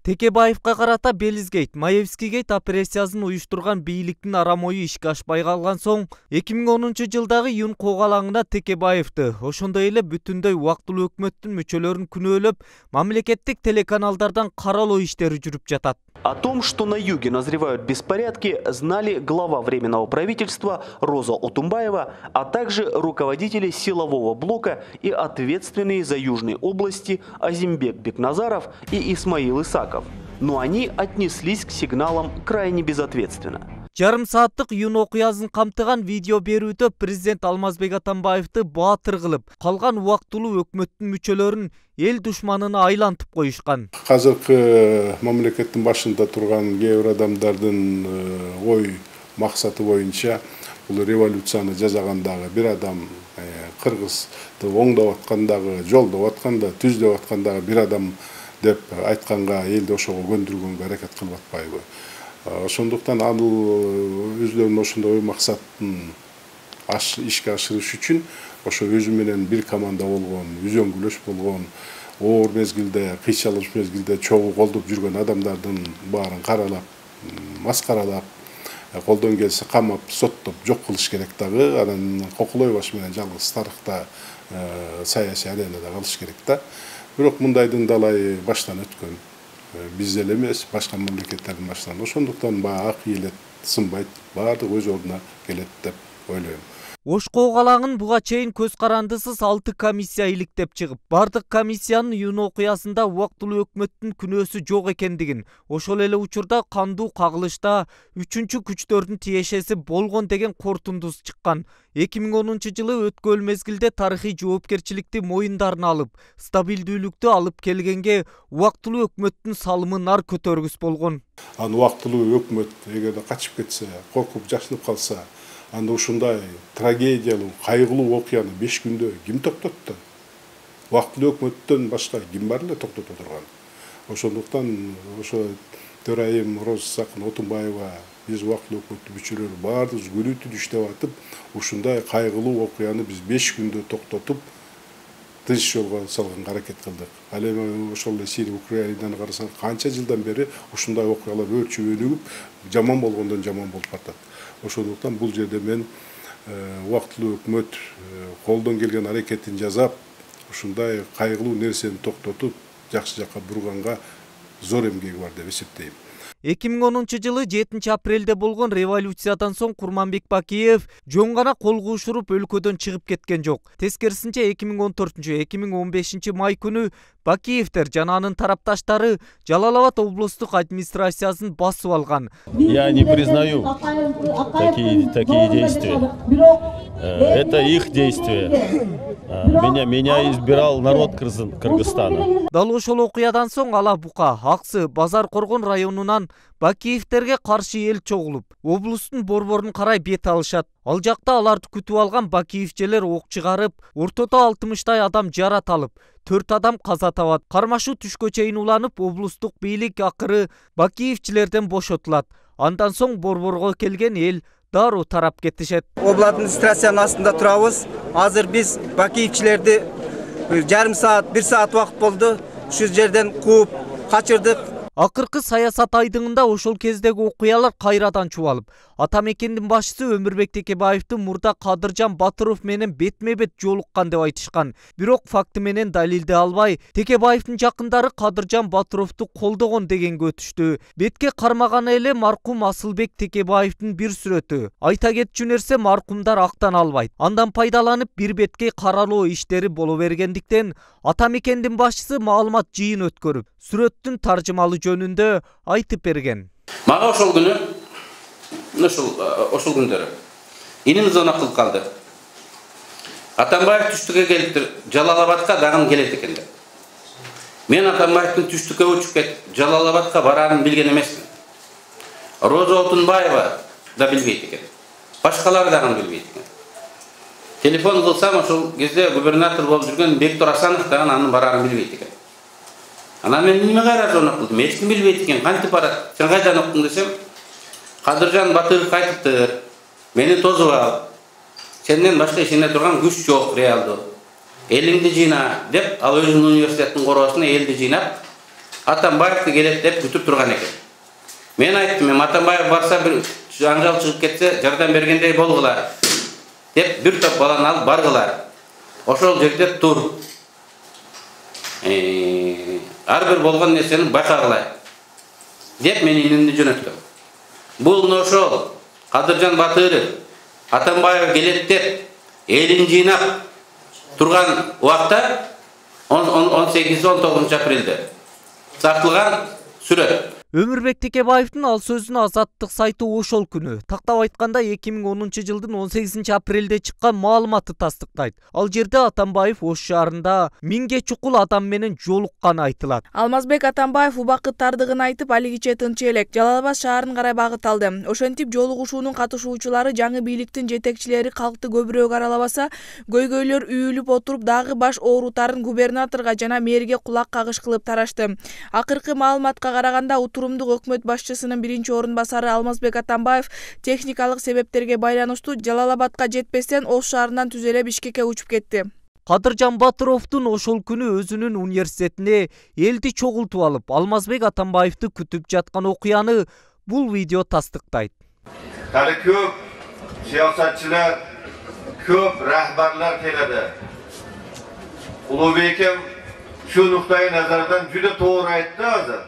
Текебаевка карата Белизгейт, Маевскийгейт операциясын уюштурган бийликтин арам ою ишке ашпай калган соң 2010 жылдагы июнь коогалаңына Текебаевди, ошондой эле бүтүндөй убактылуу өкмөттүн мүчөлөрүн күнөөлөп, мамлекеттик телеканалдардан каралоо иштери жүрүп жатат. О том, что на юге назревают беспорядки, знали глава Временного правительства Роза Отумбаева, а также руководители силового блока и ответственные за южные области Азимбек Бекназаров и Исмаил Исаков. Но они отнеслись к сигналам крайне безответственно. Жарым сааттык июнь окуясын камтыган видео берүүдө президент Алмазбек Атамбаевди баатыр кылып, калган убактылуу өкмөттүн мүчөлөрүн эл душманына айлантып коюшкан. Азыркы мамлекеттин башында турган кээ бир адамдардын ой максаты боюнча бул революцияны жасагандагы бир адам, кыргызды оңдоп аткандагы, жолдоп атканда, түздөп аткандагы бир адам деп айтканга, элди ошого көндүргөнгө аракет кылып атпайбы? Ошондуктан ал өзлөрүнүн ошондой максатын ишке ашырыш үчүн ошо өзү менен бир команда болгон, үзөңгүлөш болгон, оор мезгилде, кыйчалыш мезгилде чогуу колдоп жүргөн адамдардын баарын каралап, маскаралап, колдон келсе камап, соттоп жок кылыш керек дагы. Анан Кокулой баш менен жалгыз тарыхта саясий аренада калыш керек да. Бирок мындайдын далайы баштан өткөн. Биз эле эмес, башка мамлекеттердин башынан. Ошондуктан ак ийилет, сынбайт, баардык өз ордуна келет деп ойлойм. Ош коогалаңын буга чейин көз карандысыз 6 комиссия иликтеп чыгып, бардык комиссиянын июнь окуясында убактылуу өкмөттүн күнөөсү жок экендигин, ошол эле учурда кандуу кагылышта 3-чү күчтөрдүн тиешеси болгон деген корутундусу чыккан. 2010 жылы өткөн мезгилде тарыхый жоопкерчиликти моюндарына алып, стабилдүүлүктү алып келгенге убактылуу өкмөттүн салымы нар көтөргүс болгон. Аны убактылуу өкмөт эгерде качып кетсе, коркуп жашынып калса, анда ушундай трагедиялуу, кайгылуу окуяны 5 күндө ким токтотту? Убактылуу өкмөттөн башка ким бар эле токтото турган? Ошондуктан ошо төрайым Роза Отумбаева, биз убактылуу өкмөттүн мүчөлөрү баардыгыбыз күнү түнү иштеп атып, ушундай кайгылуу окуяны биз 5 күндө токтотуп, тынч жолго салганга аракет кылдык. Ал эми ошол эле Сирия, Украинаны карасаң, канча жылдан бери ушундай окуялар өрчүп өнүгүп, жаман болгондон жаман болуп атат. Ошондуктан бул жерде мен убактылуу өкмөт колдон келген аракетин жасап, ушундай кайгылуу нерсени токтотуп, жакшы жакка бурганга зор эмгеги бар деп эсептейм. 2010 жылы 7 апрелде болгон революциядан соң Курманбек Бакиев жөн гана кол куушуруп өлкөдөн чыгып кеткен жок. Тескерисинче 2014-2015 май күнү Бакиевдер жана анын тарапташтары Жалал-Абад облустук администрациясын басып алган. Я не признаю такие действия. Это их действия. Меня избирал народ Кыргызстана. Дал ошол окуядан соң Ала Бука, Аксы, Базар Коргон районунан Бакиевтерге каршы эл чогулуп, облустун борборун карай бет алышат. Ал жакта аларды күтүп алган бакиевчилер ок чыгарып, ортодо 60 адам жараталып, 4 адам каза табат. Кармашуу түшкө чейин уланып, облустук бийлик акыры бакиевчилерден бошотулат. Андан соң борборго келген эл дароо тарап кетишет. Обла администрациянын астында турабыз. Азыр биз бакиевчилерди жарым саат, 1 саат убакыт болду. Ушу жерден кууп качырдык. Акыркы саясат айдыңында ошол кездеги окуялар кайрадан чубалып, ата мекендин башчысы Өмүрбек Текебаевдин мурда Кадыржан Батыров менен бетме-бет жолуккан деп айтышкан. Бирок факты менен далилдей албай, Текебаевдин жакындары Кадыржан Батыровду колдогон дегенге өтүштү. Бетке кармаганы эле маркум Асылбек Текебаевдин бир сүрөтү. Айта кетчү нерсе, маркумдар актан албайт. Андан пайдаланып бир бетке каралоо иштери боло бергендиктен, ата мекендин башчысы маалымат жыйын өткөрүп, сүрөттүн таржымалы жөнүндө айтып берген. Мага ошол күнү, ошол күндөрү иним звонок кылып калды. Атамбаев түштүккө келиптир, Жалал-Абадка дагы келет экен деп. Мен Атамбаевдин түштүккө учуп кетип, Жалал-Абадка барарын билген эмесмин. Роза Отунбаева да билбейт экен. Башкалар дагы билбейт экен. Телефон кылсам, ошол кезде губернатор болуп жүргөн Бектор Асанов дагы анын барарын билбейт экен. Анан мен неме кайра звонок кылдым? Эч ким билбейт экен, кантип барат? Сен кайдан уктуң десем, Кадыржан Батыров айтыптыр. Мени тосуп ал. Сенден башка ишене турган күч жок реалдуу. Элиңди жыйна деп, ал өзүнүн университеттин короосуна элди жыйнап, Атамбаевди келет деп күтүп турган экен. Мен айттым, Атамбаев барса бир жаңжал чыгып кетсе, жардам бергендей болгула деп бир топ баланы алып баргылар. Ошол жерде тур. Ар бир болгон нерсени байкагыла деп мен инемди жөнөттүм. Бул ошол Кадыржан Батыров Атамбаев келет деп элин жыйнап турган убакта 18-19 апрелде сакталган сүрөт. Өмүрбек Текебаевдин ал сөзүн Азаттык сайты ошол күнү, тактап айтканда 2010 жылдын 18 апрелде чыккан маалыматты тастыктайт. Ал жерде Атамбаев Ош шаарында 1000ге чукул адам менен жолукканы айтылат. Алмазбек Атамбаев убакыт тардыгын айтып, алигиче тынч элек Жалал Абад шаарына карай багыт алды. Ошентип жолугушуунун катышуучулары жаңы бийликтин жетекчилери калкты көбүрөөк аралабаса, көйгөйлөр үйүлүп отуруп дагы баш оорутарын губернаторго жана мэрге кулак кагыш кылып тарашты. Акыркы маалыматка караганда өкмөт башчысынын биринчи орун басары Алмазбек Атамбаев техникалык себептерге байланыштуу Жалал Абадка жетпестен Ош шаарынан түз эле Бишкекке учуп кетти. Кадыржан Батыровдун ошол күнү өзүнүн университетине элди чогултуп алып, Алмазбек Атамбаевди күтүп жаткан окуяны бул видео тастыктайт. Дали көп саясатчылар, көп рахбарлар келеді. Улуубеким şu nuktayı nazardan juda to'g'ri aytdi hozir.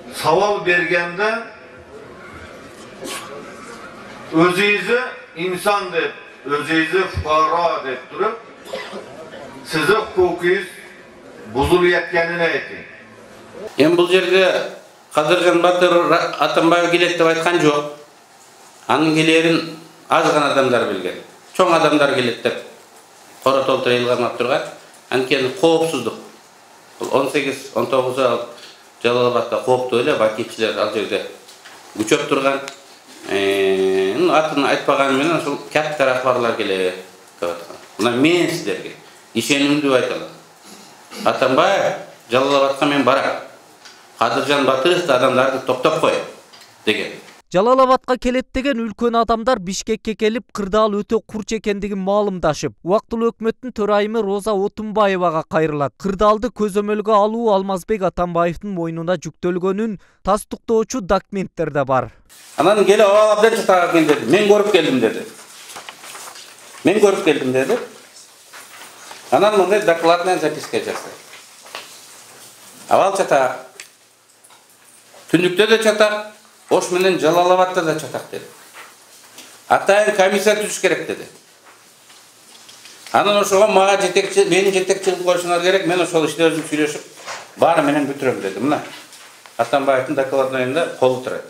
Savol berganda o'zingizni inson deb, o'zingizni fuqaro deb turib, sizni huquqingiz buzilayotganini ayting. Endi bu yerga Kадыржан Батыров Атамбаев келет деп айткан жок. Анын келерин аз гана адамдар билген. Чоң адамдар келет деп кора толтур ыйлганып турган. Анткени коопсуздук. 18-19 Жалал Абадта кооптуу эле бакичилер ал жерде күчөп турган. Атын айтпаганы менен ошол катта рахбарлар келет деп аткан. Мына мен сиздерге ишенимдүү айталам. Атамбаев Жалал Абадка мен барам. Кадыржан Батыров адамдарды топтоп кой деген. Жалал Абадка келет деген үлкөн адамдар Бишкекке келип, кырдаал өтө курч экендигин маалымдашып, убактылуу өкмөттүн төрайымы Роза Отунбаевага кайрылат. Кырдаалды көзөмөлгө алуу Алмазбек Атамбаевдин мойнуна жүктөлгөнүн тастыктоочу документтер да бар. Анан келип абдан чатага келди. Мен көрүп келдим деди. Анан мындай докладный записка жазды. Авал чатак. Түндүктө да чатак, Ош менен Жалал Абадта да чатак деди. Атайын комиссия түзүш керек деди. Анан ошого мага мени жетекчи кылып коюшуңар керек, мен ошол иште өзүм сүйлөшүп, баары менен бүтүрөм деди. Мына Атамбаевдин докладныйында колу турат.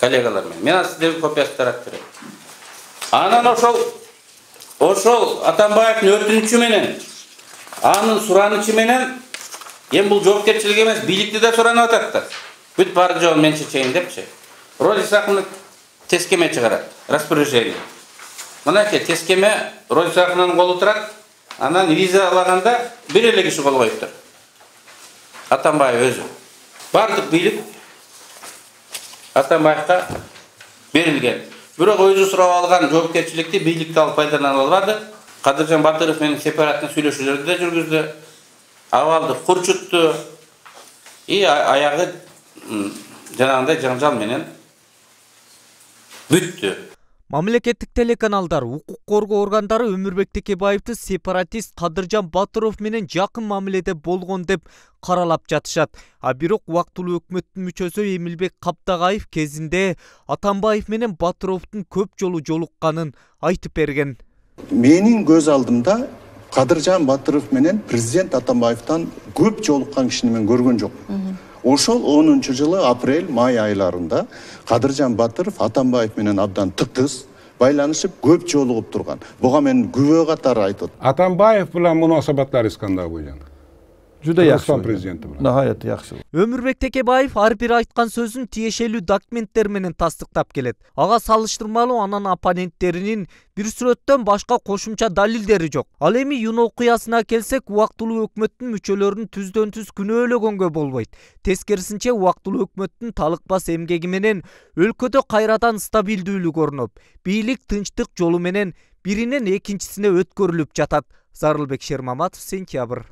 Коллегалар менен. Мен сиздерге копиясын таратып берем. Анан ошол Атамбаевдин өтүнүчү менен, анын суранычы менен, эми бул жоопкерчилик эмес, бийликти да суранып атат да. Бүт бар жол мен чечейин депчи. Рози Сахынов тескеме чыгарат, распоряжение. Мынакей тескеме Рози Сахыновдун колу турат, анан виза алаганда бир эле киши кол коюптур. Атамбаев өзү. Бардык бийлик Атамбаевга берилген. Бирок өзү сурап алган жоопкерчиликти бийликти алып пайдалана албады. Кадыржан Батыров менен сепараттын сүйлөшүүлөрдү да жүргүздү. Абалды курчутту. Аягы жанагындай жаңжал менен бүттү. Мамлекеттик телеканалдар, укук коргоо органдары Өмүрбек Текебаевди сепаратист Кадыржан Батыров менен жакын мамиледе болгон деп каралап жатышат. Бирок убактылуу өкмөттүн мүчөсү Эмилбек Каптагаев кезинде Атамбаев менен Батыровдун көп жолу жолукканын айтып берген. Менин көз алдымда Кадыржан Батыров менен президент Атамбаевден көп жолуккан кишини мен көргөн жокмун. Ошол 10-жылы апрель-май айларында Кадыржан Батыров Атамбаев менен абдан тыктыз байланышып көп жолугуп турган. Буга мен күбө катары айтып. Атамбаев менен мунасабаттарыңыз кандай болгон? Juda yaxshi. Prezidenti bilan. Nihoyat yaxshi. Өмүрбек Текебаев ар бир айткан сөзүн тиешелүү документтер менен тастыктап келет. Ага салыштырмалуу анын оппоненттеринин бир сүрөттөн башка кошумча далилдери жок. Ал эми Юн окуясына келсек, убактылуу өкмөттүн мүчөлөрүн түздөн-түз күнөөлөгөнгө болбойт. Тескерисинче, убактылуу өкмөттүн талыкпас эмгеги менен өлкөдө кайрадан стабилдүүлүк орноп, бийлик тынчтык жолу менен биринен экинчисине өткөрүлүп жатат. Зарылбек Шермаматов, Сентябрь.